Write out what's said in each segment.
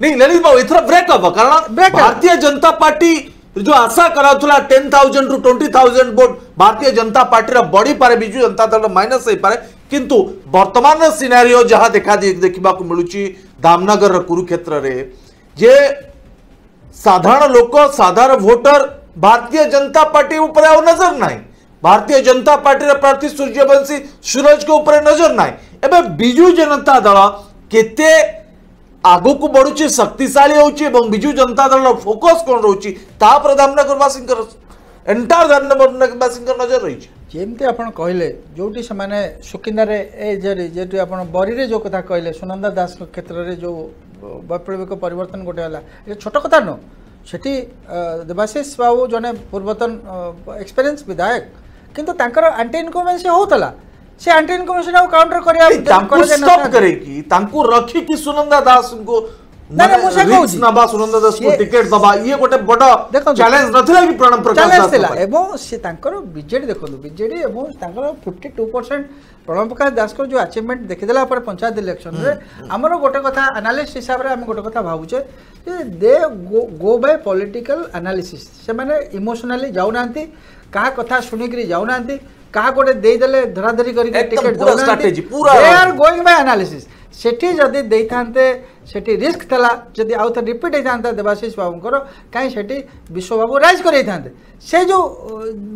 ନାଇଁ ଲଳିତ ବାବୁ, ଏଥର ବ୍ରେକ୍ ହବ, କାରଣ ଭାରତୀୟ ଜନତା ପାର୍ଟି ଯୋଉ ଆଶା କରାଉଥିଲା 10,000 ରୁ 20,000 ଭୋଟ ଭାରତୀୟ ଜନତା ପାର୍ଟିର ବଢିପାରେ, ବିଜୁ ଜନତା ଦଳ ମାଇନସ୍ ହେଇପାରେ, କିନ୍ତୁ ବର୍ତ୍ତମାନର ସିନାରିଓ ଯାହା ଦେଖା ଦେଖିବାକୁ ମିଳୁଛି ଧାମନଗରର କୁରୁକ୍ଷେତ୍ରରେ ଯେ ସାଧାରଣ ଲୋକ, ସାଧାରଣ ଭୋଟର ଭାରତୀୟ ଜନତା ପାର୍ଟି ଉପରେ ଆଉ ନଜର ନାହିଁ, ଭାରତୀୟ ଜନତା ପାର୍ଟିର ପ୍ରାର୍ଥୀ ସୂର୍ଯ୍ୟବଂଶୀ ସୁରଜଙ୍କ ଉପରେ ନଜର ନାହିଁ। ଏବେ ବିଜୁ ଜନତା ଦଳ କେତେ ଆଗକୁ ବଢୁଛି, ଶକ୍ତିଶାଳୀ ହେଉଛି ଏବଂ ବିଜୁ ଜନତା ଦଳର ଫୋକସ୍ କ'ଣ ରହୁଛି ତାପରେ ଧାମନଗରବାସୀଙ୍କର, ଏଣ୍ଟାୟାର ଧାମନଗରବାସୀଙ୍କର ନଜର ରହିଛି। ଯେମିତି ଆପଣ କହିଲେ, ଯେଉଁଠି ସେମାନେ ସୁକିନ୍ଦାରେ ଏ ଜରି ଯେହେତୁ ଆପଣ ବରିରେ ଯେଉଁ କଥା କହିଲେ, ସୁନନ୍ଦା ଦାସଙ୍କ କ୍ଷେତ୍ରରେ ଯେଉଁ ବୈପ୍ଳବିକ ପରିବର୍ତ୍ତନ ଗୋଟେ ହେଲା, ଏ ଛୋଟ କଥା ନୁହଁ। ସେଠି ଦେବାଶିଷ ବାବୁ ଜଣେ ପୂର୍ବତନ ଏକ୍ସପିରିଏନ୍ସ ବିଧାୟକ, କିନ୍ତୁ ତାଙ୍କର ଆଣ୍ଟି ଇନକମ୍ବେନ୍ସି ହେଉଥିଲା। ସେ ଆଣ୍ଟି ଇନକମ୍ବେନ୍ସି ଆଉ କାଉଣ୍ଟର କରିବା ତାଙ୍କୁ ଷ୍ଟପ୍ କରେଇକି, ତାଙ୍କୁ ରଖିକି ସୁନନ୍ଦା ଦାସଙ୍କୁ ନବା, ସୁନନ୍ଦା ଦାସଙ୍କୁ ଟିକେଟ ଦବା, ଇଏ ଗୋଟେ ବଡ ଚ୍ୟାଲେଞ୍ଜ ନଥିଲା କି ପ୍ରଣବ ପ୍ରକାଶ ଦାସ ଥିଲା? ଏବଂ ସେ ତାଙ୍କର ବିଜେଡି ଦେଖନ୍ତୁ, ବିଜେଡି ଏବଂ ତାଙ୍କର 52% ପ୍ରଣବ ପ୍ରକାଶ ଦାସଙ୍କର ଯେଉଁ ଆଚିଭମେଣ୍ଟ ଦେଖିଦେଲା ପରେ ପଞ୍ଚାୟତ ଇଲେକ୍ସନରେ, ଆମର ଗୋଟେ କଥା ଆନାଲିଷ୍ଟ ହିସାବରେ ଆମେ ଗୋଟେ କଥା ଭାବୁଛେ ଯେ ଦେ ଗୋ ବାଇ ପଲିଟିକାଲ ଆନାଲିସିସ୍। ସେମାନେ ଇମୋସନାଲି ଯାଉନାହାନ୍ତି, କାହା କଥା ଶୁଣିକିରି ଯାଉନାହାନ୍ତି, କାହା ଗୋଟେ ଦେଇଦେଲେ ଧରାଧରି କରିକି ଟିକେଟ ଦେଉନାହାନ୍ତି। They are going by analysis. ସେଠି ଯଦି ଦେଇଥାନ୍ତେ, ସେଠି ରିସ୍କ ଥିଲା, ଯଦି ଆଉ ଥରେ ରିପିଟ୍ ହେଇଥାନ୍ତା ଦେବାଶିଷ ବାବୁଙ୍କର, କାହିଁ ସେଠି ବିଶ୍ୱବାବୁ ରାଇଜ୍ କରେଇଥାନ୍ତେ। ସେ ଯେଉଁ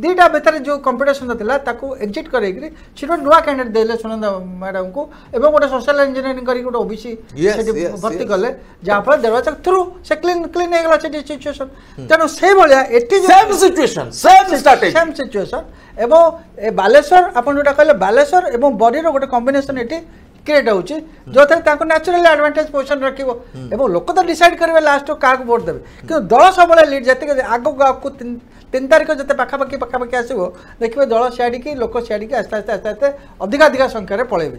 ଦୁଇଟା ଭିତରେ ଯେଉଁ କମ୍ପିଟିସନ୍ ଥିଲା ତାକୁ ଏକ୍ଜିଟ୍ କରେଇକିରି ସେଠି ଗୋଟେ ନୂଆ କ୍ୟାଣ୍ଡିଡେଟ୍ ଦେଲେ ସୁନନ୍ଦା ମ୍ୟାଡ଼ାମଙ୍କୁ ଏବଂ ଗୋଟେ ସୋସିଆଲ ଇଞ୍ଜିନିୟରିଂ କରିକି ଗୋଟେ ଓବିସି ସେଠି ଭର୍ତ୍ତି କଲେ, ଯାହାଫଳରେ ଦେବାଶିଷ ଥ୍ରୁ ସେ କ୍ଲିନ୍ କ୍ଲିନ୍ ହେଇଗଲା ସେଠି ସିଚୁଏସନ୍। ତେଣୁ ସେଇଭଳିଆ ଏଠି same situation, same same situation. ଏବଂ ଏ ବାଲେଶ୍ୱର ଆପଣ ଯେଉଁଟା କହିଲେ, ବାଲେଶ୍ୱର ଏବଂ ବରିର ଗୋଟେ କମ୍ବିନେସନ୍ ଏଠି କ୍ରିଏଟ୍ ହେଉଛି, ଯେଉଁଥିରେ ତାଙ୍କୁ ନ୍ୟାଚୁରାଲି ଆଡଭାଣ୍ଟେଜ୍ ପୋଜିସନ୍ ରଖିବ ଏବଂ ଲୋକ ତ ଡିସାଇଡ୍ କରିବେ ଲାଷ୍ଟକୁ କାହାକୁ ଭୋଟ୍ ଦେବେ, କିନ୍ତୁ ଦଳ ସବୁବେଳେ ଲିଡ୍। ଯେତିକି ଆଗକୁ ଆଗକୁ 3 ତାରିଖ ଯେତେ ପାଖାପାଖି ପାଖାପାଖି ଆସିବ, ଦେଖିବେ ଦଳ ସିଆଡ଼ିକି, ଲୋକ ସିଆଡ଼ିକି ଆସ୍ତେ ଆସ୍ତେ ଆସ୍ତେ ଆସ୍ତେ ଅଧିକା ଅଧିକା ସଂଖ୍ୟାରେ ପଳେଇବେ।